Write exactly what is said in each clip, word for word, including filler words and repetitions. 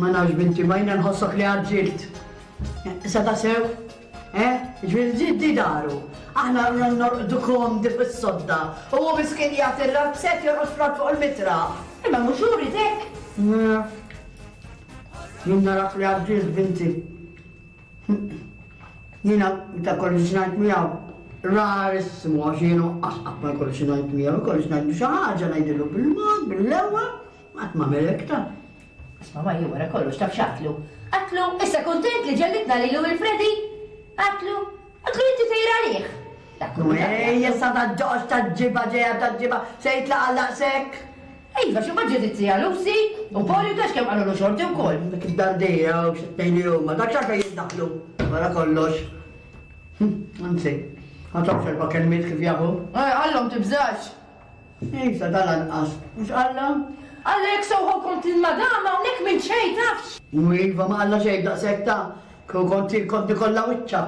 Ma nafx binti, ma jiena nħossok li għaġġilt. Issa ta' sew? Eh? Ġifieri ġiddi daru. Aħna norqdu komdi fis-sodda. U hu miskin jagħti r-razzett jorqod frat fuq il-mitra. Imma mhux hu ried hekk. Jien narak li għaġġilt binti. Jiena meta kolli xi ngħid miegħu, rarissimu għax jien qatt qatt ma jkolli xi ngħid miegħu, jkolli xi ngħidlu xi ħaġa ngħidlu bil-mod, bil-lewwa, qatt ma hekk ta'. Isma' ma jien wara kollox taf x'għedtlu. Għedtlu, issa kuntent li ġellitna lilu lil Freddy? Għedtlu, għedtlu inti tgħir għalih. Ejja sa ta' ġoqx ta' ġiba ġejja ta' ġiba se jitlaqa' daqshekk. Iva, xi mbagħad ġiet it-tija Lucy u Poli u tax kemm qalulu xorti wkoll. Dik id-dardija u xi tnejn li huma, dak x'għalfejn jiddaħlu wara kollox. Anzi, ħa tafx erba' kelmiet kif jafu. Eh, għallhom tibżax. Issa tal-anqas, mhux qallhom? Għalhekk sewħu kont il-madama hawnhekk minn xejn tafx. U iva ma qalla xejn daqshekk ta' konti konti kollha wiċċa.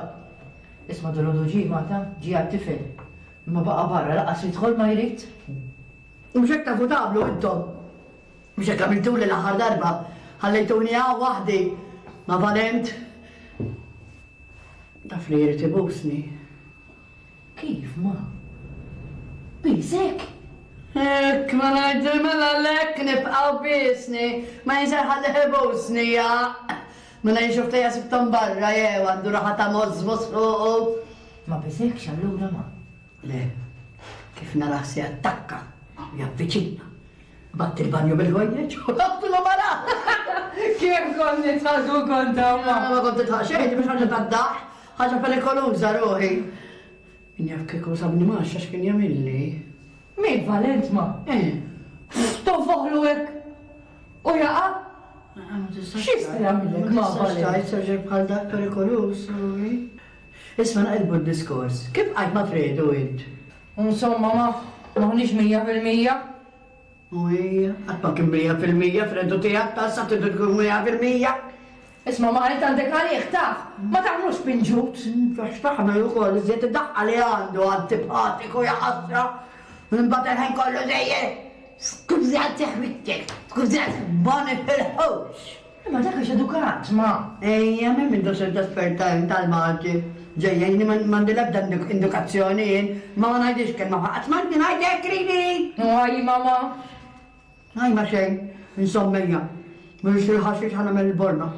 Isma' dolodu ġie mata, ġie għat-tifel. Imma baqa' barra lanqas jidħol ma jrid. Mhux hekk tafu tagħmlu intom. Mhux hekk għamiltuli l-aħħar darba. Ħallejtuni hawn waħdi ma' Valent. Taf li jrid ibusni. Kif ma? Bisek? Hekk ma ngħidu mela lek nibqgħu bisni, ma jinser ħalli ibusni ja. Mela jien xofta sibtom barra jew għandu raħa ta' możmos fuqu. Ma bisekx allura ma. Le, kif narah se attakka, javviċina. Batt il-banju bil-ħwejjeġ u għabtu mara. Kemm kont nitħażu kont ma. Ma kont titħaq xejn, mhux ħaġa tad-daħ, ħaġa perikoluża ruħi. Min jaf kieku sabni max għax kien jagħmilli. Min Valent ma? Eh. Tonfoħlu hekk. U jaqa'? X'jista' jagħmilek ma Valent? Tgħid bħal dak perikoluż, ruħi. Isma' naqilbu d-diskors. Kif bqajt ma' Fredu int? Insomma ma maħniex mija fil-mija. U hija, qatt ma kien mija fil-mija Fredu tiegħek ta' sa tridu tkun mija fil-mija. Isma' ma int għandek għalih taf, ma taħmlux pinġut. Għax taħmel ukoll iżjed id-daqqa li għandu antipatiku jaħasra. Imbagħad il-ħin kollu dejjem. Skużati ħwittek, skużati ma nifilħux. Imma dak għax edukat ma. Ejja, minn minn dosir esperta tal-Malti. Ġejja, jien m'għandi l-ebda indukazzjoni jien, ma ma ngħidix kelma ħadd ma ngħidek ridi. Għaj mama. Għaj ma xejn, insomma Mhux il-ħaxix ħa nagħmel il-borma.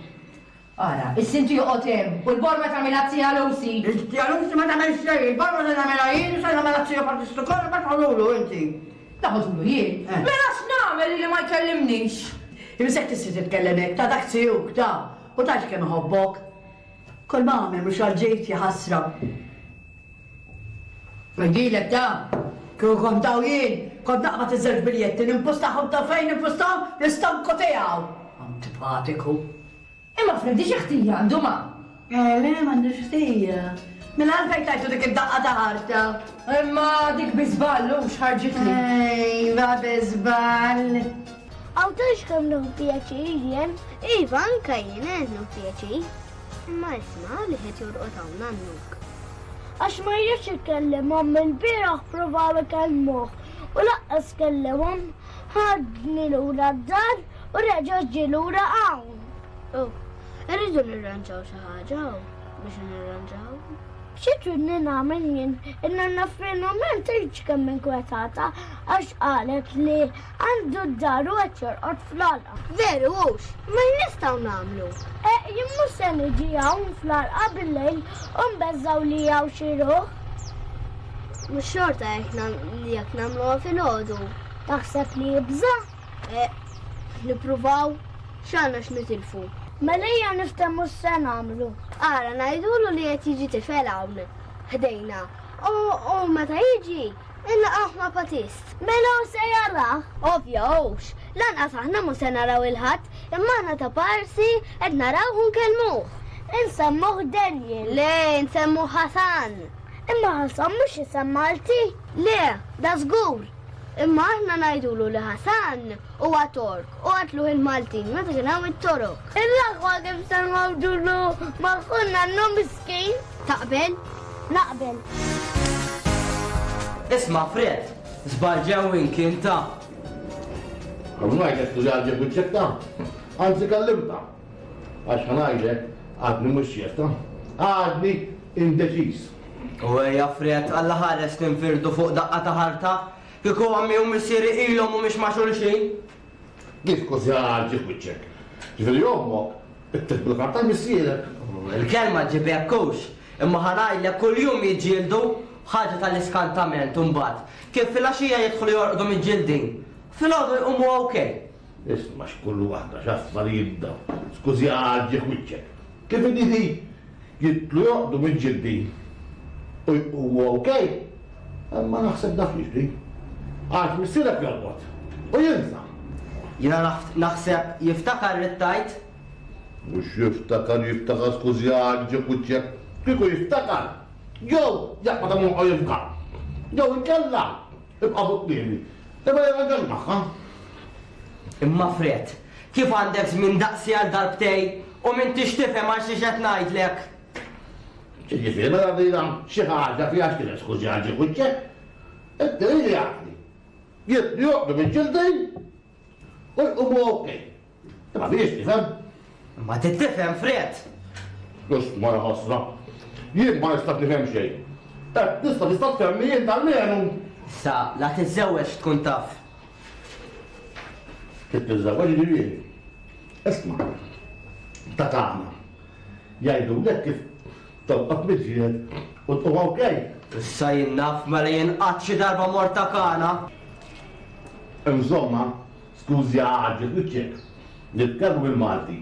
Ara, is-sinti joqgħod hemm u l-borma tagħmilha tija Lucy. Tija Lucy ma tagħmel xejn, il-borma se nagħmilha jien, se nagħmilha tija Partistu kollha ma tħallulu inti. Taħodulu jien. Mela x'nagħmel li ma jkellimnix? Imsek tista' titkellem hekk ta' dak tiegħek ta' u tgħidx kemm iħobbok. Kull ma għamel mhux għal-ġejt jaħasra. Ngħidilek ta' kieku kont hawn jien, kont naqbad iż-żewġ biljetti nimpustahom ta' fejn nimpustahom l-istonku tiegħu. Antipatiku. Imma Freddy xi ħtija għandu ma? Eh, le, m'għandux ħtija. Mela għalfejn tajtu dik id-daqqa ta' ħarta. Imma dik bi żball u x'ħarġitli. Iva bi żball. Għaw tafx kemm nieħu pjaċir jien? Iva, anka jien qed nieħu pjaċir. Imma isma' li qed jorqod hawn nannuk. Għax ma jridx ikellimhom il-bieraħ provaw ikellmuh u lanqas kellimhom ħadni lura d-dar u reġa' ġie lura hawn. Oh, irridu nirranġaw xi ħaġa biex nirranġaw. Xi tridni nagħmel jien? In-nanna Finament tgħidx kemm inkwetata għax qalet li għandu d-dar u qed jorqod fl-għalqa. Veru hux, ma nistgħu nagħmlu. Eh, jien mhux se niġi hawn fl-għalqa bil-lejl u nbeżżaw li hawn xi ruħ. Mhux xorta jekk nagħmluha filgħodu. Taħseb li jibża'? Eh, nippruvaw x'għandna x'nitilfu. Mela ejja niftehmu x'se nagħmlu. Ara ngħidulu li qed jiġi tifel hawn ħdejna. U meta jiġi, inlaqgħu ma' Patist. Mela hu se jarah? Ovvja hux. Lanqas aħna mhu se naraw il-ħadd, imma aħna ta' parsi qed naraw u nkellmuh. Insemmuh Daniel. Le, nsemmuh Hasan. Imma Hasan mhux isem Malti. Le, da żgur. Imma aħna ngħidulu li Hasan huwa Tork u qatluh il-Maltin meta kien hawn it-Torok. Il-aħwa kif se ngħidulu ma' nannu miskin? Taqbel? Naqbel. Isma' Fred, żball ġewwin kien ta' Għaw ngħidlek li għalġeb wiċċek ta' Anzi kellimtha. Għax ħa ngħidlek għadni mhux ċerta. Għadni indeċiż. U ejja Fred, Alla ħares ninfirdu fuq daqqa ta' ħarta. Kieku ommi u missieri ilhom mhumiex ma' xulxin. Kif kważi għarġi f'wiċċek. Ġifieri ommok ittieħ bil-karta missierek. Il-kelma ġib hekk hux. Imma ħa ngħidlek kuljum jiġġieldu ħaġa tal-iskantament imbagħad. Kif filgħaxija jidħlu jorqdu miġġieldin. Filgħodu jqumu okej. Isma' x'kull waħda x'affarijiet dawn. Skużi għarġi f'wiċċek. Kif inhi jidħlu jorqdu miġġieldin u jqumu okej. Imma naħseb dak jiġri. Għax missierek jorqod u jinsa. Jiena naħseb jiftakar rittajt. Mhux jiftakar jiftakar skużi għarġi f'wiċċek. Kieku jiftakar. Jew jaqbad hawn jifka. Jew inkella ibqa' fuq kliemi. Imma jirranġax magħha. Imma Fred, kif għandek żmien daqsi għal darbtej u m'intix tifhem għal xi qed ngħidlek? Ġifieri mela dina xi ħaġa fiha x'kien skużi għarġi f'wiċċek. Inti li jgħidli. Jidħlu jorqdu miġġieldin u jqumu okej. Imma biex tifhem. Ma titifhem Fred. Isma' ja ħasra. Jien ma nistax nifhem xejn. Eh, tista' tista' tfehmni jien almenu. Sa, la tiżżewweġ tkun taf. Kif tiżżewweġ ġifieri. Isma' ta' tagħna. Jgħidulek kif torqod miġġieled u tqum okej. Issa jien naf mela jien qatt xi darba mort ta' Kana. Insomma, skużi għarġi f'wiċċek. Nitkellmu bil-Malti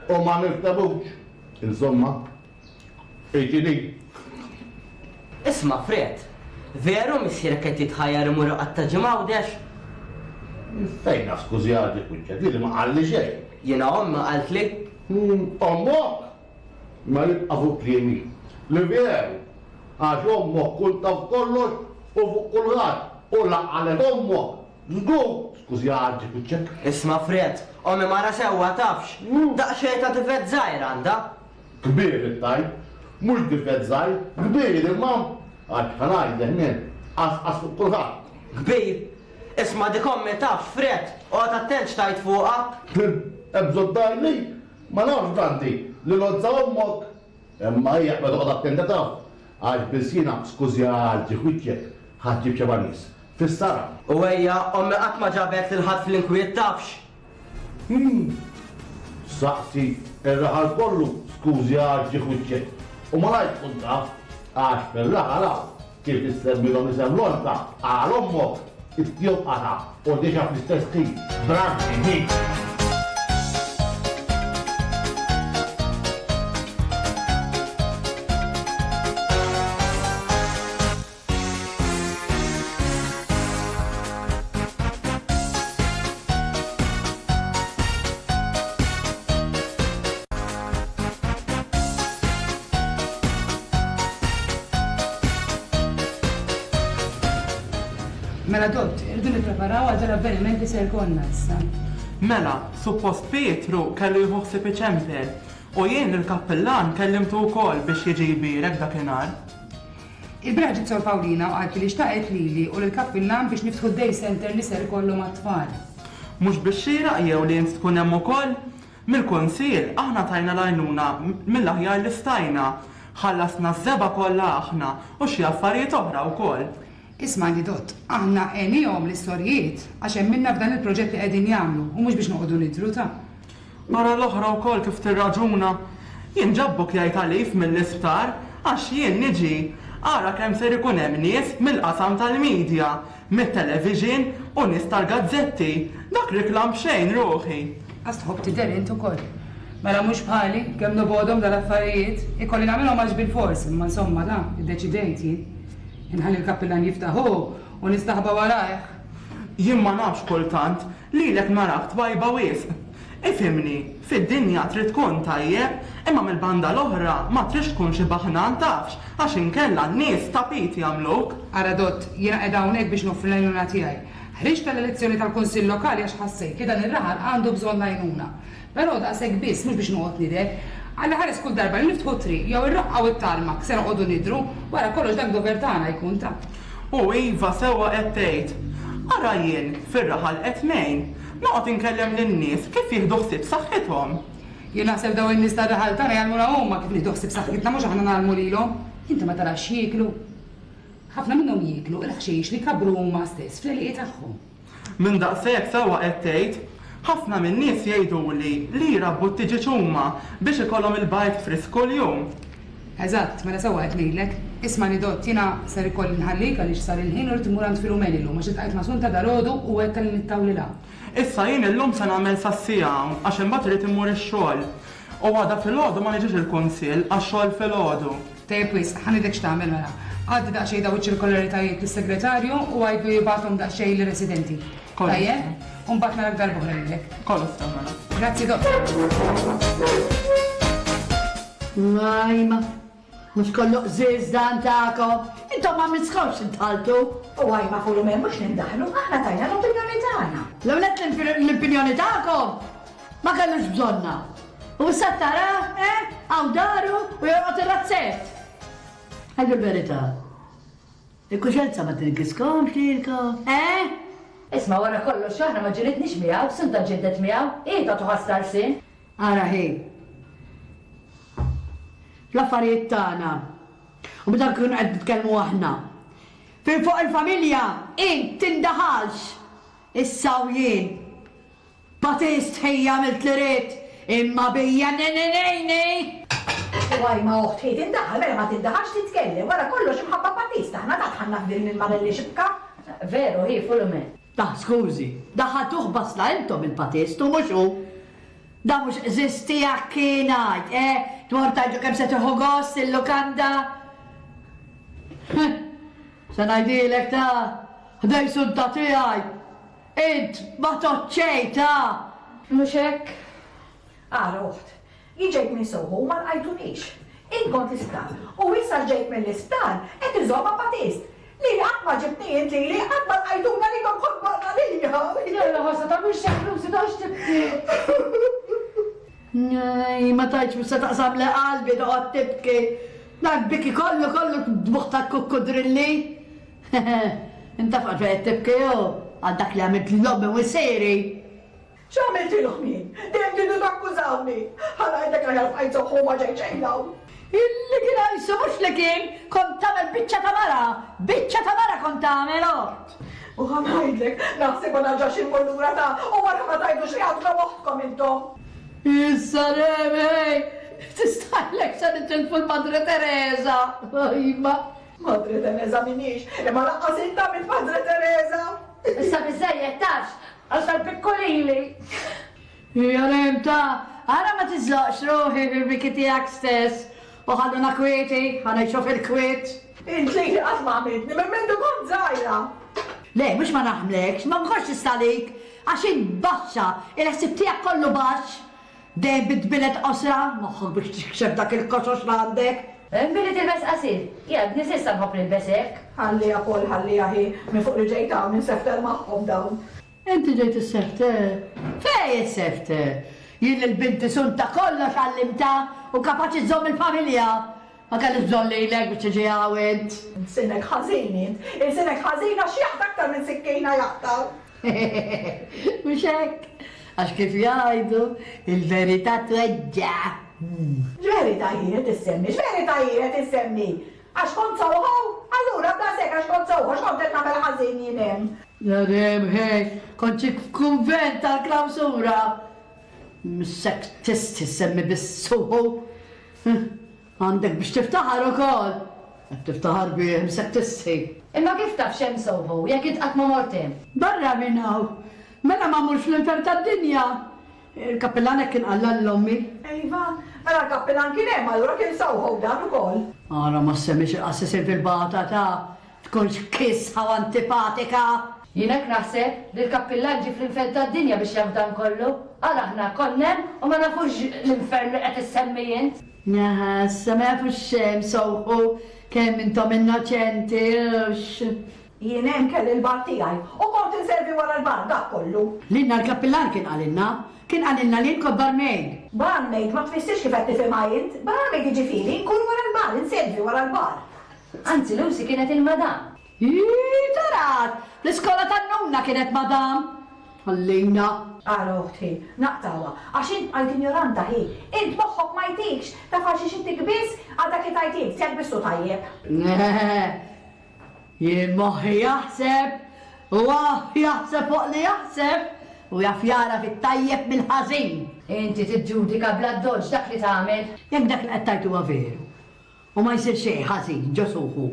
u ma niftehmux. Insomma, iġini. Isma' Fred, veru missierek qed jitħajjar imur iqatta' ġimgħa Għawdex? Fejn naf skużi għarġi f'wiċċek, lili ma qalli xejn. Jiena ommi qaltli. Ommok? Ma jibqa' fuq kliemi. Li veru, għax ommok kull taf kollox u fuq kulħadd u laqgħalet ommok. Żgur, skużi għarġi f'wiċċek. Isma' Fred, ommi mara sewwa tafx. Daqsxejn ta' difett żgħir għandha. Kbir it-tajb, mhux difett żgħir, kbir imma għax ħa ngħidlek min, qasqas fuq kulħadd. Kbir? Isma' dik ommi tafx, Fred, oqgħod attent x'tajt fuqha. Hemm bżonn tgħidli, ma nafx Branti li lozza ommok. Imma hija qed toqgħod attenta taf, għax biss jiena skużi għarġi f'wiċċek ħa ġġib xeba' nies. Fis-sara. U ejja, ommi qatt ma ġabet lil ħadd fl-inkwiet tafx. Saqsi ir-raħal kollu skużi għarġi f'wiċċek. U ma ngħid tkun taf, għax fir-raħal hawn kif issemmilhom isem lonta għal ommok it-tjob qata' u diġà fl-istess ħin. Branti dik. Mela Dott, irridu nippreparaw għal dal-avveniment li ser jkollna issa. Mela, suppost Pietru kellu jieħu ħsieb iċempel u jien il-kappellan kellimtu wkoll biex jiġi jbierek dakinhar. Il-bieraħ ġiet Sor Paulina u qaltli li xtaqet lili u lill-kappillan biex niftħu d-day center li ser ikollu mat-tfal. Mhux biex xieraq jew li int tkun hemm ukoll? Mill-kunsil aħna tajna l-għajnuna mill-aħjar li stajna. Ħallasna ż-żebgħa kollha aħna u xi affarijiet oħra wkoll. Ismagħni Dott, aħna għenihom l-istorjiet għax emminna f'dan il-proġett li qegħdin jagħmlu u mhux biex noqogħdu nidru ta'. Mara l-oħra wkoll kif tirraġuna. Jien ġabbuk jgħid għalif mill-isptar għax jien niġi. Ara kemm ser ikun hemm nies mill-qasam tal-medja, mit-television u nies tal-gazzetti. Dak riklam xejn ruħi. Għax tħobb tidher int ukoll. Mela mhux bħali, kemm nobgħodhom dal-affarijiet, ikolli nagħmilhom għax bil-fors, imma insomma da, iddeċidejt jien. Inħalli l-kappillan jiftaħ hu u nistaħba warajh. Jien ma nafx kultant lilek narak twajba wisq. Ifhimni, fid-dinja trid tkun tajjeb, imma mill-banda l-oħra ma tridx tkun xi baħnan tafx, għax inkella n-nies tapit jagħmluk. Ara Dott, jiena qiegħda hawnhekk biex noffri l-għajnuna tiegħi. Ħriġt tal-elezzjoni tal-Kunsill Lokali għax ħassejt li dan ir-raħal għandu bżonn l-għajnuna. Però daqshekk biss mhux biex noqgħod nidher. Alla ħares kull darba li niftħu triq jew ir-roqqa u t-tarmak se noqogħdu nidru, wara kollox dak dover tagħna jkun ta'. U iva sewwa qed tgħid. Ara jien fir-raħal qed ngħin. Noqgħod inkellem lin-nies kif jieħdu ħsieb saħħithom. Jien naħseb daw in-nies tar-raħal tagħna jgħallmuna huma kif nieħdu ħsieb saħħitna mhux aħna ngħallmu lilhom. Inti ma tarax jieklu. Ħafna minnhom jieklu il-ħxejx li kabru huma stess fl-għelieqi tagħhom. Minn daqshekk sewwa qed tgħid, ħafna min-nies jgħiduli li jrabbu t-tiġieġ huma biex ikollhom il-bajd frisk kuljum. Eżatt, mela sewwa qed ngħidlek. Ismagħni Dott, jiena ser ikolli nħallik għaliex sar il-ħin u rrid immur għand Filumeni llum għax iltqajt ma' Sunta dalgħodu u għedtha li nittawlilha. Issa jien illum se nagħmel sas-siegħa hawn għax imbagħad irrid immur ix-xogħol. U għada filgħodu ma niġix il-kunsill għax xogħol filgħodu. Tajjeb wisq, ħa ngħidlek x'tagħmel mela. Għaddi daqsxejn dawn iċ-ċirkolaritajiet lis-segretarju u għidlu jibgħathom daqsxejn lir-residenti. Tajjeb? U mbagħad narak darb'oħra lilek. Kollox sew mela. Grazzi Dott. Majma, mhux kollu qżież dan tagħkom. Intom ma misskomx tintħaltu. U għajma Fulumen mhux nindaħlu, aħna tajna l-opinjoni tagħna. L-ewwel nett l-opinjoni tagħkom ma kellux bżonnha. U issa tara, eh, hawn daru u jorqod ir-razzett. Għidu l-verità. Il-kuxjenza ma tingiskomx lilkom, eh? Isma' wara kollox aħna ma ġilidniex miegħu, Sunta ġildet miegħu, hi tagħtu ħass lsien. Ara hi. Fl-affarijiet tagħna. U meta nkunu qed nitkellmu aħna. Fejn fuq il-familja int tindaħalx. Issa u jien. Batist ħija għamilt li ridt, imma bija nenenenej. U għaj ma oħt hi tindaħal, mela ma tindaħalx titkellem, wara kollox imħabba Batist aħna ta' dħalna f'din il-marelli xibka. Veru, hi Fulumen. Daħ, skużi, daħħaltuh basla intom il-Batist u mhux hu. Da mhux qżiż tiegħek kien għid, eh? Dwar tgħidlu kemm se tieħu gost il-lukanda. Se ngħidilek ta' ħdej sunta tiegħi. Int ma toċċej ta'. Mhux hekk? Ara oħt, jien ġejt minn Soho u ma lqajtunix. Int kont l-isptar u issa ġejt mill-isptar qed iżomm ma' Batist. Lili qatt ma ġibtni int lili, qatt ma lqajtuna lilkom kont barranija. Jalla ħossa ta' mhux hekk Lucy toqgħodx tibki. Nej, ma tgħidx mhux se taqsam li qalbi toqgħod tibki. Dak biki kollu kollu dbuħ ta' kukkudrilli. Inta fuq qed tibki hu għal dak li għamilt l-ommi u missieri. X'għamiltilhom jien? Dejjem tridu takkużawni. Ħa ngħidlek aħjar bqajt soħħu ma ġejt xejn hawn. Illi kien għajsu mhux li kien, kont tagħmel biċċa ta' mara, biċċa ta' mara kont tagħmel oħt. U ħa ngħidlek, naħseb ma narġax immur lura ta' u wara ma tgħidux li għadna moħħkom intom. Issa Remi, tistajlek se nitilfu l-Madre Teresa. Imma. Madre Teresa minix, imma lanqas int għamilt Madre Teresa. Issa biżejjed tafx, għax tal-pikkolili. Hija Rem ta' ara ma tiżloqx ruħi fil-biki tiegħek stess. U ħalluna kwieti, ħa ngħixu fil-kwiet. Int lili qatt ma għamiltni minn mindu kont żgħira. Le, mhux ma naħmlekx, ma nkunx nistalik, għax int baxxa, il-ħsieb tiegħek kollu baxx. Dejjem bit-tbilet qosra, moħħok biex tikxef dak il-koxox li għandek. Billi tilbes qasir, jien għadni s'issa nħobb nilbes hekk. Ħalliha Paul, ħalliha hi, minn fuq li ġejt hawn insefter magħhom dawn. Inti ġejt issefter? Fejn issefter? Jien lil binti Sunta kollox għallimtha u kapaċi żżomm il-familja. Ma kellix bżonn lilek biex tiġi hawn int. Ilsinek ħażin int, ilsinek ħażin għax jaqta' aktar minn sikkina jaqta'. Mhux hekk? Għax kif jgħidu, il-verità tweġġa'. X'verità hi qed issemmi? X'verità hi qed issemmi? Għax kont Soho? Allura b'daqshekk għax kont Soho, x'kont qed nagħmel ħażin jien hemm? Ja Rem, ħej, kont xi f'kunvent tal-klawsura. Missek tistħi ssemmi biss Soho. Għandek biex tiftaħar ukoll. Qed tiftaħar bih, missek tistħi. Imma kif taf x'hemm Soho jekk int qatt ma mort hemm? Barra minn hawn. Mela ma mmurx fl-infern tad-dinja. Il-kappillan hekk kien qallha lil ommi. Iva, mela l-kappillan kien hemm allura kien Soho dan ukoll. Ara ma ssemmix il-qassisin fil-bata ta' tkunx kisħa u antipatika. Jien hekk naħseb li l-kappillan ġie fl-infern tad-dinja biex jaf dan kollu. Ara aħna konna hemm u ma nafux l-infern li qed issemmi int. Aha, issa ma jafux x'hemm Soho, kemm intom innoċenti, hux. Jien hemm kelli l-bar tiegħi u kont inservi wara l-bar dak kollu. Lilna l-kappillan kien qalilna, kien qalilna li kont barmaid. Barmaid ma tfissirx kif qed tifhimha int. Barmaid jiġifieri nkun wara l-bar, inservi wara l-bar. Anzi, Lucy kienet il-madam. Ii, tarat! L-iskola tan-nunna kienet madam. Ħallina. Ara oħti, naqtawha, għax int bqajt injoranta hi. Int moħħok ma jtikx, taf għal xiex intik biss għal dak li tajt int, jekk biss hu tajjeb. Jien moħħi jaħseb u jaħseb fuq li jaħseb u jaf jara fit-tajjeb mill-ħażin. Inti tiġġudika bla doġġ dak li tagħmel. Jekk dak li qed tgħid huwa veru u ma jsir xejn ħażin ġo suħu.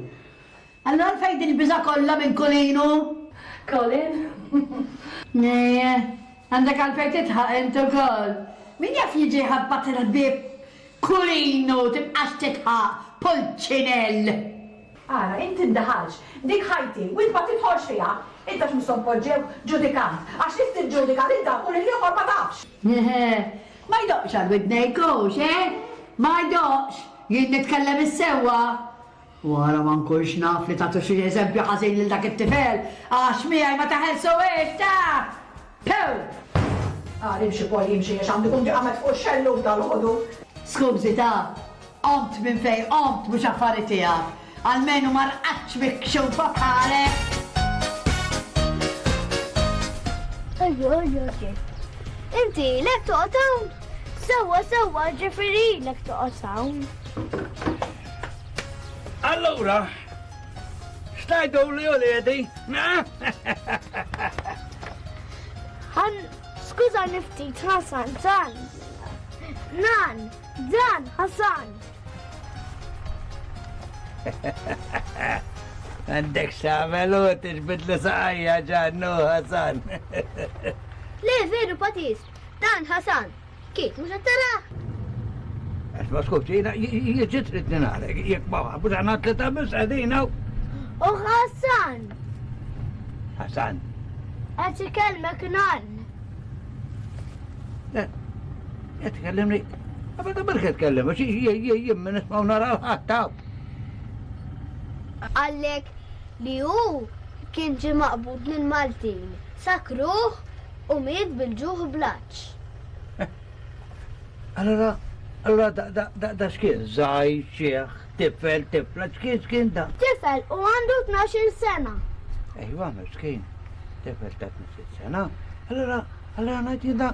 Allura għalfejn din il-biża' kollha minn Kulinu? Colin? Nee, għandek għalfejn titħaq int ukoll. Min jaf jiġi ħabbat il-ħbieb Kulinu tibqax titħaq Pulċinell. Ara, int tindaħalx, dik ħajti, u int ma tidħolx fiha. Int għax mhux poġġew ġudikant, għax li tiġġudika lil dak u lil ieħor ma tafx. Ma jdoqx għal widnejk hux, eh? Ma jdoqx, jien nitkellem is-sewwa. Wara ma nkunx naf li tagħtu xi eżempju ħażin lil dak it-tifel, għax miegħi ma taħelsuhiex ta'! Pew! Ara imxi Paul jimxi għax għandu jkun ġie fuq xellug dal-ħodu. Skużi ta' qomt minn fejn qomt mhux affari tiegħek. Almenu ma rqadx mikxufa bħalek. Ejju, ejju, ejju. Inti lek toqgħod hawn? Sewwa, sewwa, ġifieri lek toqgħod hawn. Allura, x'tajdu li uliedi? Għan, skużani ftit, Hasan, dan. Nan, dan, Hasan. Għandek x'tagħmel u tiġbid li saqajja ġannu Hasan. Le, veru, Patis, dan Hasan. Kif, mhux qed tarah? Ma skużi, jiena trid ninarek, jekk ma mhux aħna tlieta biss qegħdin hawn. U Hasan. Hasan. Qed ikellmek nan. Qed tkellimni. Ma ta' berke tkellem, għax jien minn nisma' nara ħadd hawn. Qallek li hu kien ġie maqbud minn Maltin, sakruh u miet bil-ġuħ bl-għatx. Allora, allora da da da da x'kien żgħir, xieħ, tifel, tifla, x'kien x'kien da? Tifel u għandu tnax-il sena. Ejwa, miskin, tifel ta' tnax-il sena. Allora, allora ngħid jien da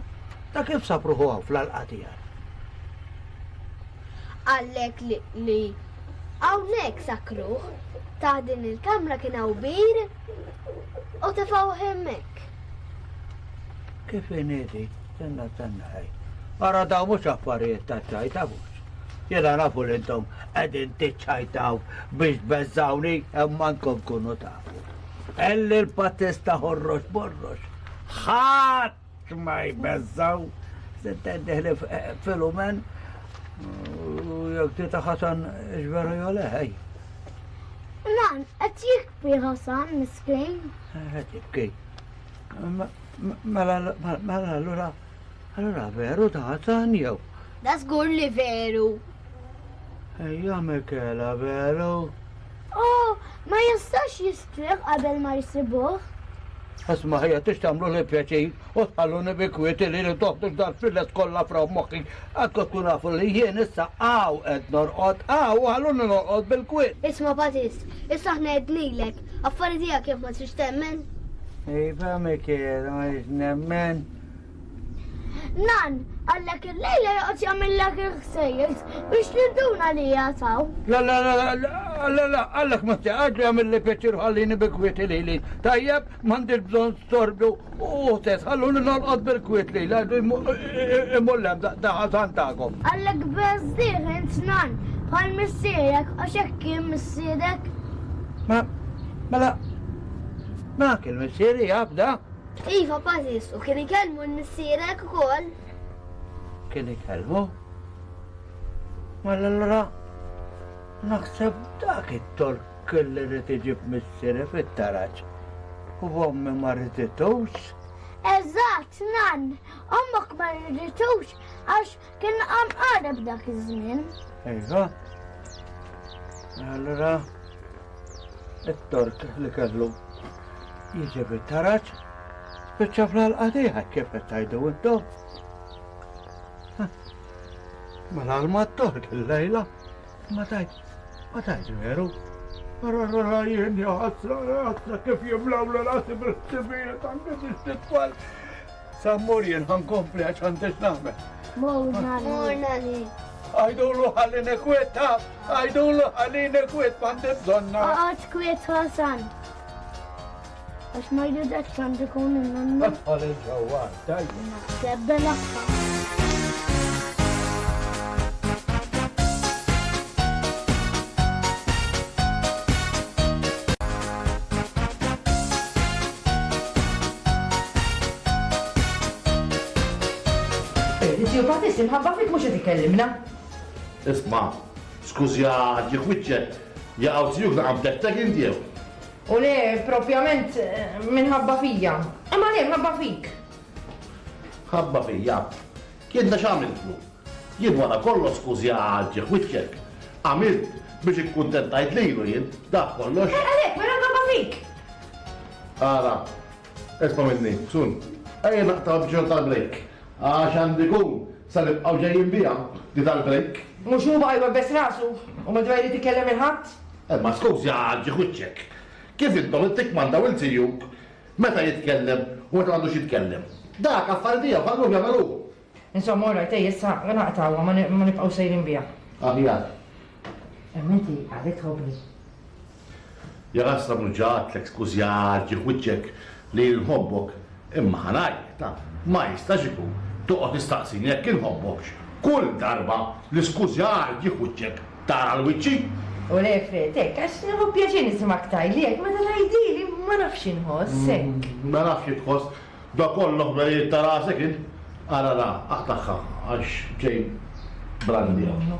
da kif sapruħu hawn fl-għalqa tiegħek? Qallek li li hawnhekk sakruh, ta' din il-kamra kien hawn bir u tefgħuh hemmhekk. Kif inhi? Tenna tenna ħaj. Ara daw mhux affarijiet ta' ċajta mhux. Jiena nafu li intom qegħdin tiċċajtaw biex tbeżżawni imma nkom kunu tafu. Elli l-patista ħorrox borrox. Ħadd ma jbeżżaw. Sintendi ħlif Filumen u jekk tita Hasan x'veru jew le ħej. Nan, qed jibki Hasan miskin. Qed jibki. Mela mela allura allura veru ta' Hasan jew? Da żgur li veru. Ejja Michela veru. Oh, ma jistax jistrieħ qabel ma jsibuh. Isma' ħija tix tagħmlu li pjaċir u tħalluni bi kwieti li li toħdu dar fil-les kollha fra moħħi. Għadkom tkun nafu li jien issa hawn qed norqod, hawn ħalluni norqod bil-kwiet. Isma' Patis, issa aħna għednilek, affari tiegħek jekk ma trix temmen. Iva Michela, ma rridx nemmen. Nan, għallek il-lejla joqgħod jagħmillek il-ħsejjes biex ninduna li jataw. La la la la la la, għallek ma tiqgħod jagħmel li pjaċir ħallini bi kwieti lili. Tajjeb, m'għandix bżonn storbju u test, ħalluni norqod bil-kwiet lili, imullem da Hasan tagħkom. Għallek beżdieħ int nan, bħal missierek għax hekk kien missierek. Ma, mela, ma kien missieri jaf da? Iva, Patis, u kien ikellmu l-missierek ukoll. Kien ikellmu? Mela allura naħseb dak it-tork li rrid iġib missieri fit-taraġ. U ommi ma rriditux? Eżatt, nan, ommok ma rriditux għax kien qam qareb dak iż-żmien. Iva. Allura it-tork li kellu jiġi fit-taraġ spiċċa fl-għalqa tiegħek kif qed tgħidu intom. Mela għal t-tork il-lejla ma tajt, ma tajt veru. Ara ara jien ja ħasra, ħasra kif jimlaw l-rasi bil-ħsibijiet anke biex titfal. Issa mmur jien ħa nkompli għax għandi x'nagħmel. Mur nannu. Mur nanni. Għajdulu ħallini kwiet ta, għajdulu ħallini kwiet m'għandi bżonna. Oqgħod kwiet Ħasan. Għax ma jridekx għandu jkun in-nannu. Idħol il-ġewwa, tajjeb. Naħseb belagħha. Ziju Patist, imħabba fik mhux qed ikellimna. Isma', skużja ġieħ wiċċek, jaqgħu zijuk naqam tektek inti jew? U le, propjament minħabba fija. Imma le, mħabba fik. Ħabba fija. Jien da x'għamiltlu? Jien wara kollox skużja ġieħ wiċċek. Għamilt biex ikkuntentajt lilu jien, dak kollox. Eh, għalhekk, mela mħabba fik. Ara, isma' minni, sun, ejja naqta' bġor tal-break. Għax għandi kun, sa nibqgħu ġejjin biha di tal-break. Mhux hu baqa' jwebbes rasu u ma dwar irid ikellem il-ħadd? Eh, ma skużja ġieħ wiċċek. Kif intom tikmandaw il-tijuk meta jitkellem u meta m'għandux jitkellem? Dak affari tiegħu ħalluh jagħmel hu. Insomma, all right, ejja issa naqtgħuha, ma ni-, ma nibqgħu sejrin biha. Aħjar. Imma inti għadek tħobbni. Ja rasra mhux ġatlek skużja ġieħ wiċċek li nħobbok, imma ħanajt, ta' ma jistax ikun toqgħod tistaqsini jekk inħobbokx. Kull darba li skużja ġieħ wiċċek tara l-wiċċi. U le, Fred, hekk, għax nieħu pjaċir nismak tgħidli hekk, meta tgħidili ma nafx inħoss hekk. Mm, ma nafx tħoss, da kollu ħberijiet ta' rasek int. Ara ra, aqtagħha għax ġej brandi hawn.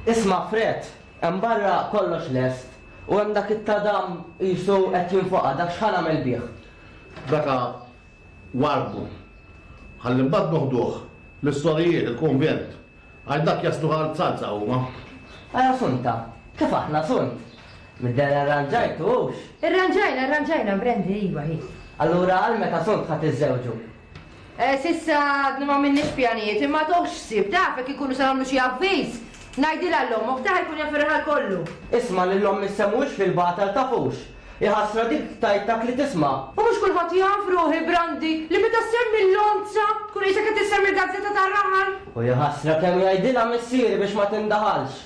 Isma' Fred, hemm barra kollox lest u hemm dak it-tadam qisu qed jinfoqa' dak x'ħa nagħmel bih. Daka warbu. Ħalli mbagħad noħduh l-istorijiet, il-konvent. Għal dak jaslu għal salza huma. Ara sunta, kif aħna sunt? Mid-dera arranġajtu hux? Irranġajna, irranġajna, Brandy, iva, hi. Allura għal meta sunt ħa tiżżewġu? Eh, sissa għadna ma minniex pjanijiet, imma toħx ħsieb, taf jekk ikunu se nagħmlu xi avviż. Ngħidilha l-ommok, ta' jkun jaf ir-raħal kollu. Isma' lil omm issemmux fil-batal tafux. Iħassra dik tajtak li tisma'. U mhux kulħadd jaf ruħi, Brandy, li meta ssemmi l-lonza, tkun qisek qed issemmi l-gazzetta tar-raħal. U jħassra kemm jgħidilha missieri biex ma tindaħalx.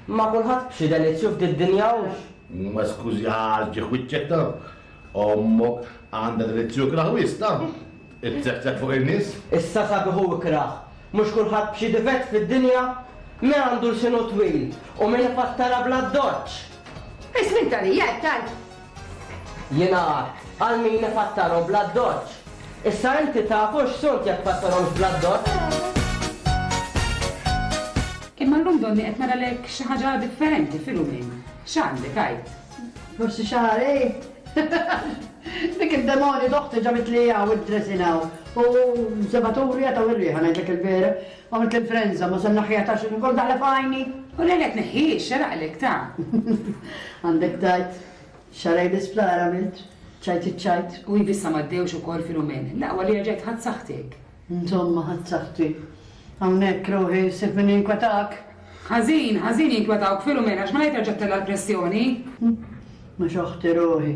Ma kulħadd b'xi delizzju f'did dinja hux. Ma skużi ġieħ wiċċek ta' ommok għandha delizzju ikraħ wis ta' it-tektek fuq in-nies. Issa sabiħu ikraħ. Mhux kulħadd b'xi difett fid-dinja, min għandu l-sinu twil u min ifattara bla doċċ. Ismin tal-ija, tal. Jiena għad, għal min ifattarhom bla doċċ. Issa inti tafux sunt jekk fattarhomx bla doċċ. Imma llum donni qed naralek xi ħaġa differenti Filumin. X'għandek għid? Forsi xahar, ej. Dik id-demonju doħti ġabit li hawn id-dressing hawn. U sebaturi għataw ir-riħa ngħidlek il-vera. Għamilt l-influenza, ma se naħħiha ta' xi nkun daħla f'għajni. U le qed neħħiex, xeraqlek ta'. Għandek tajt. Xarej l-isptar għamilt, ċajt iċ-ċajt. U jibissa m'għaddewx ukoll Filumin. L-aqwa li rġajt ħadd saħħtek. Insomma, ħadd saħħti. Hawnhekk ruħi sib min jinkwetak. Ħażin, ħażin jinkwetawk Filumin għax ma ngħid terġa' tella' l-pressjoni. Mhux oħti ruħi.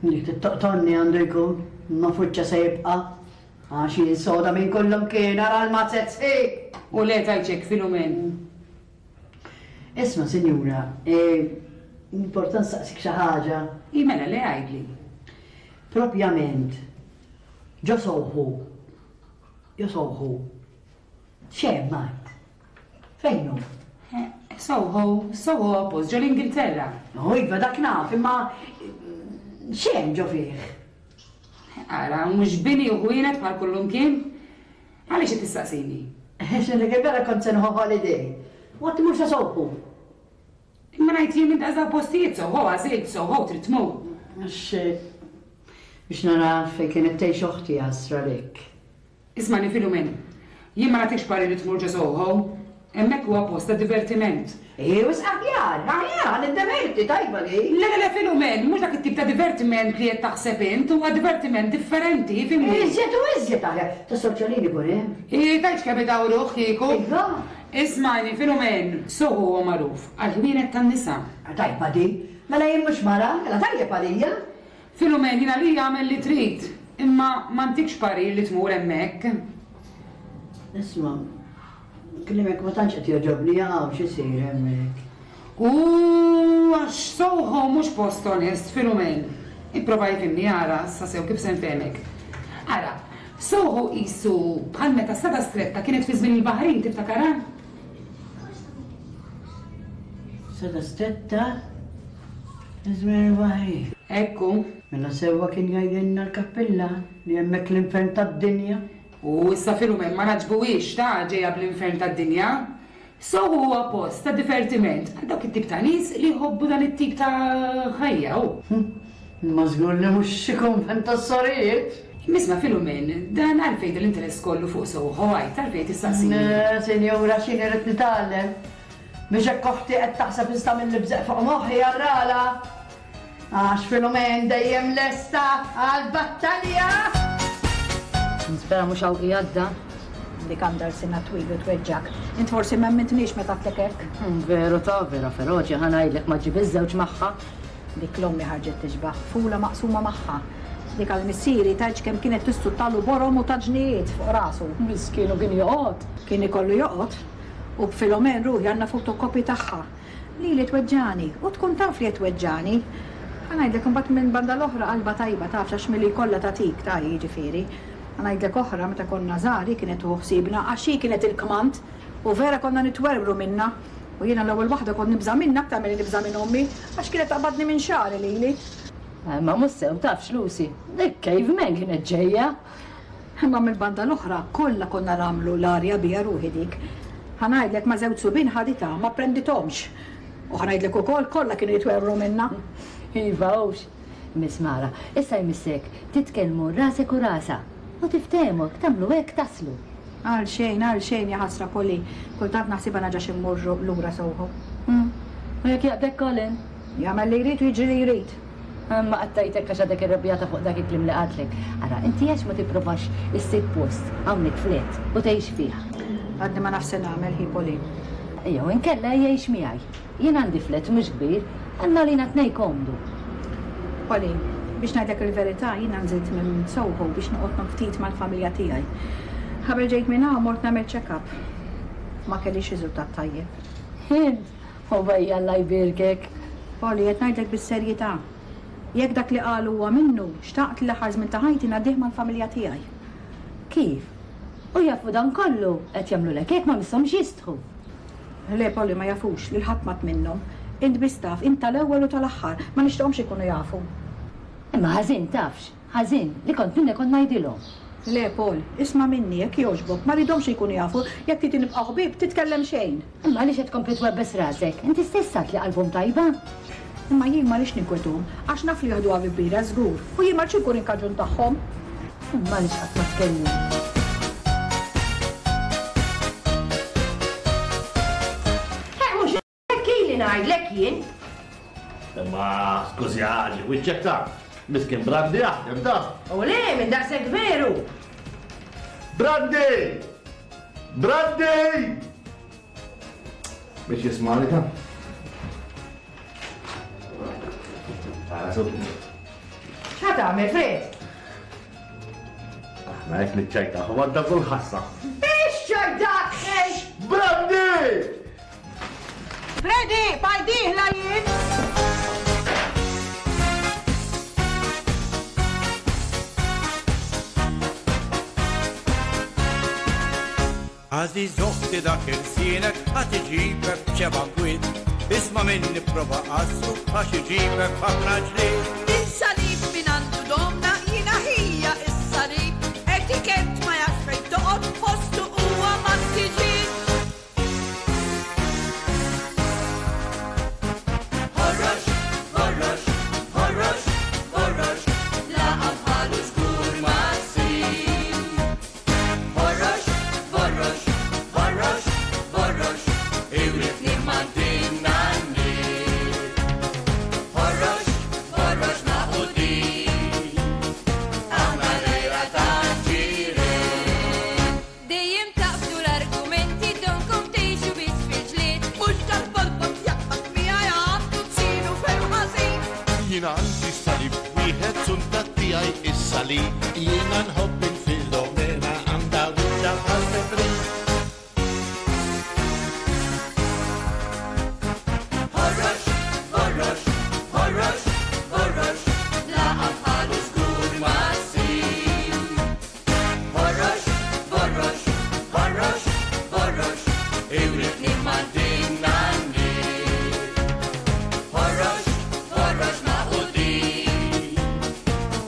Dik tittoqtonni għandu jkun, ma fuċċa se jibqa'. Għax jien soda minn kullum kien ara l-mazzet sħiħ. U le tajċek Filumin. Isma', sinjura, e, important saqsik xi ħaġa. I mela le għidli. Propjament, ġo Soho. Ġo Soho. X'hemm għad? Fejn hu? Eh, Soho, Soho post ġo l-Ingilterra. Oh, iva dak naf, imma x'hemm ġo fih? Ara, mhux bini u ħwienet bħal kullum kien? Għaliex qed tistaqsini? X'inhi kif vera kont se nieħu holiday. Waqt imur sa Soho. Imma ngħid jien minn daqs postijiet Soho, għażilt Soho trid tmur. Għax biex nara fejn kienet tgħix oħti għasra lek. Ismani Filumin, jien ma nagħtikx parir li tmur ġo Soho. Hemmhekk huwa post ta' divertiment. Ej, wisq aħjar, aħjar, niddeverti, tajba li. Le, le, le, Filumen, mhux dak it-tip ta' divertiment li qed taħseb int, huwa divertiment differenti, fimni. Iżjed u iżjed aħjar, ta' soċjalini kun hemm. Ej, tajtx kemm idawruh kieku. Iva. Ismani, Filumen, Soho huwa magħruf għal ħwienet tan-nisa. Tajba di, mela jien mhux mara, mela tajjeb għalija. Filumen, jiena li jagħmel li trid. Imma m'għandikx parir li tmur hemmhekk. Isma', klimek ma tantx qed jogħġobni hawn x'isir hemmhekk. U għax Soho mhux post onest, Filumen. Ipprova jifhimni ara sa sew kif se nfehmek. Ara, Soho qisu bħal meta Strada Stretta kienet fi żmien il-Baħrin tiftakarha? Strada Stretta fi żmien il-Baħrin. Ekku. Mela sewwa kien jgħidilna l-kappilla li hemmhekk l-infern tad-dinja. U issa Filumen ma naġbuhiex ta' ġejja bl-infern tad-dinja. Soho huwa post ta' divertiment għal dawk it-tip ta' nies li jħobbu dan it-tip ta' ħajja hu. Imma żgur li mhux xi kunvent tas-sorijiet. Imma Filumen, dan għalfejn l-interess kollu fuq Soho għajt għalfejn tistaqsini. Le, sinjura, x'inhi rrid nitgħallem. Biex hekk oħti qed taħseb nista' mill-libżeq fuq moħħi għarrala. Għax Filumen dejjem lesta għal-battalja. Nispera mhux hawn qiegħda. Dik għandha lsina twil u tweġġak. Int forsi ma emmintnix meta għedtlek hekk. Veru ta' vera feroċi ħa ngħidlek ma ġib iż-żewġ magħha. Dik l-ommi ħarġet tixbaħ, fula maqsuma magħha. Dik għal missieri tgħidx kemm kienet tissuttalu borom u taġnijiet fuq rasu. Miskien u kien joqgħod. Kien ikollu joqgħod. U b'Filomen ruħi għandna fotokopji tagħha. Lili tweġġani u tkun taf li tweġġani. Ħa ngħidlek imbagħad minn banda l-oħra qalba tajba tafx għax milli jkollha tagħtik ta' jiġifieri. Ħa ngħidlek oħra meta konna żgħar hi kienet tieħu ħsiebna għax hi kienet il-kmand u vera konna nitwerwru minnha. U jiena l-ewwel waħda kont nibża' minnha aktar milli nibża' minn ommi għax kienet taqbadni minn xagħri lili. Ma mhux sew tafx Lucy, dik caveman kienet ġejja. Imma mill-banda l-oħra kollha konna nagħmlu l-arja biha ruħi dik. Ħa ngħidlek ma' żewġ subien ħaditha ma prendithomx. U ħa ngħidlek ukoll kollha kienu jitwerwru minnha. Iva hux. Miss Mara, issa jmissek titkellmu rasek u rasa u tiftehmu hekk tagħmlu hekk taslu. Għal xejn, għal xejn ja ħasra Polly. Kultant naħsibha naġax immorru lura Soho. U jekk jaqbdek Colin? Jagħmel li jrid u jiġri li jrid. Ma qattajtek għax għadek irrabjata fuq dak il-kliem li qatlek. Ara, inti għax ma tipprovax issib post hawnhekk flet u tgħix fih. Għadni ma nafx se nagħmel hi Polly. Jew inkella jgħix miegħi. Jien għandi flet mhux kbir, għandna lina tnejn komdu. Polly, biex ngħidlek il-verità, jiena nżilt minn Soho biex noqgħod ftit mal-familja tiegħi. Qabel ġejt minn hawn mort nagħmel check-up. Ma kellix riżultat tajjeb. Int, u bejja Alla jbierkek. Polly, qed ngħidlek bis-serjetà. Jekk dak li qalu huwa minnu, xtaqt li l-aħħar żmien ta' ħajti ngħaddih mal-familja tiegħi. Kif? U jafu dan kollu qed jagħmlulek hekk ma misshomx jistħu. Le, Polly, ma jafux lil ħadd mat minnhom. Int biss taf, int tal-ewwel u tal-aħħar, ma nixtieqhomx ikunu jafu. Imma ħażin tafx, ħażin li kont minnek kont ngħidilhom. Le, Paul, isma' minni jekk jogħġbok, ma rridhomx ikunu jafu, jekk trid nibqa' ħbieb titkellem xejn. Imma għaliex qed tkompli twebbes rasek? Inti stess għedt li qalbhom tajba. Imma jien ma rridx ninkwetuhom, għax naf li jaħduha bi kbira żgur, u jien ma rridx inkun il-kaġun tagħhom. Imma għaliex qatt ma tkellmu? Mhux hekk ili ngħidlek jien. Imma skużi għaġi, wiċċek ta' miskin Brandi jaħdem ta'. U le, minn daqshekk veru. Brandi! Brandi! Biex jismani ta'. Tara sub. X'ħa tagħmel, Fred? Aħna hekk niċċajta, u għadda kull ħassa. Biex ċajdak, ej! Brandi! Freddy, pajdih la jien! Għaziz uħti dak il-sienek għat iġibek b'xeba kwit. Isma' minni prova qassu għax iġibek ħafna ġlied. Il-salib minn għandu domna jiena ħija is-salib. Etikett ma jafx fejn toqgħod postu huwa ma tiġi. Ħorrox, ħorrox, ħorrox, ħorrox, laqgħa bħalu żgur ma ssib. Ħorrox, ħorrox, ħorrox, ħorrox, iwritni m'għandina n-nies. Ħorrox, ħorrox maqudin, aħna l-għira tal-ġirien. Dejjem taqbdu l-argumenti donkom tgħixu biss fil-ġlied. Mhux tal-bolbot jaqbad miegħi għandu tsiru ferm ħażin. Jien għandi salib wieħed suntat tiegħi is-salib. Jiena nħobb il-Filomena għandha wiċċha bħal febrin. Ħorrox, ħorrox, ħorrox, ħorrox, laqa bħalu żgur ma ssib. Ħorrox, ħorrox, ħorrox, ħorrox, iwritni ma' din nanni. Ħorrox, ħorrox maqudin,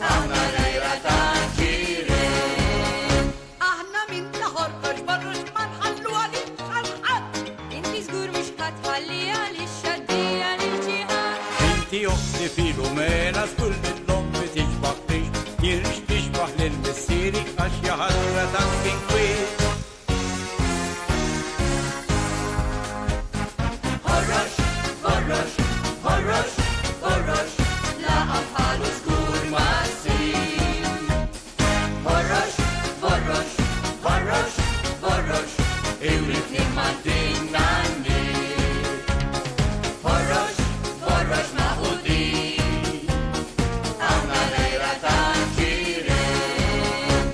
aħna l-għira ta' ġirien. Aħna minn ta' ħorrox borrox ma nħallu għalix għal ħadd. Inti żgur mhux ħatħalli għaliex għaddija lil xi ħadd. Inti oħti Filomena żgur lill-ommi tixbaħ jirx tixbaħ lil missieri għax jaħasra tant inkwiet. Ħorrox, ħorrox, ħorrox, ħorrox, laqa bħalu żgur ma ssib. Ħorrox, ħorrox, ħorrox, ħorrox, iwritni ma' din nanni. Ħorrox, ħorrox maqudin, aħna l-għira ta' ġirien.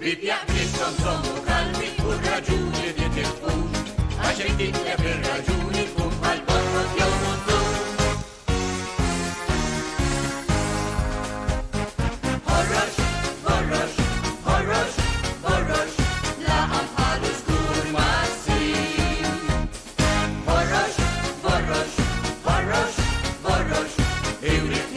Ħbieb jaqbilkom żommu kalmi u r-raġuni titilfux, għax jekk titlef ir-raġuni tkun bħal borrot jew mutur. Ħorrox, ħorrox, ħorrox, ħorrox, laqa bħalu żgur ma ssib. Ħorrox, ħorrox, ħorrox, ħorrox, iwritni